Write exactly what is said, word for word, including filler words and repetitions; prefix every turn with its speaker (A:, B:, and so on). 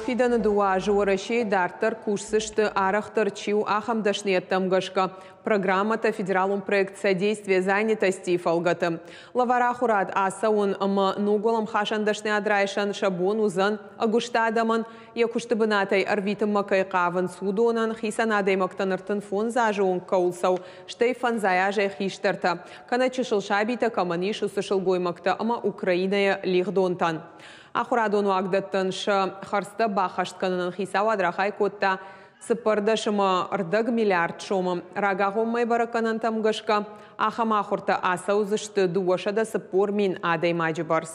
A: Фидӕны дыууӕ азы Уӕрӕсейы дарддӕр кусдзысты, арӕхдӕр чи у, ахӕм дӕсныйӕдтӕм гӕсгӕ программӕтӕ федералон проект «Содействие занятости» фӕлгӕты. Лӕвар ахуырад ацӕуын ӕмӕ ног уӕлӕмхасӕн дӕсныйад райсӕн сӕ бон уыдзӕн ӕгуыст адӕмӕн, йӕ куысты бынатӕй ӕрвитынмӕ кӕй хъавынц, уыдонӕн, хицӕн адӕймӕгтӕн ӕртын фондз азы онг кӕуыл цӕуы, стӕй фӕндзай азӕй хистӕртӕ, кӕнӕ чысыл сабитӕ кӕмӕн ис, уыцы сылгоймӕгтӕ ӕмӕ Украинӕйӕ лигъдонтӕн. Ахуырадон уагдӕттӕн сӕ хӕрдзтӕ баххӕст кӕнынӕн хицауад рахай кодта цыппӕрдӕс ӕмӕ ӕрдӕг миллиард сомы. Рагагъоммӕ бӕрӕггӕнӕнтӕм гӕсгӕ ахӕм ахуыртӕ ацӕудзысты дыууӕсӕдӕ цыппор мин адӕймаджы бӕрц.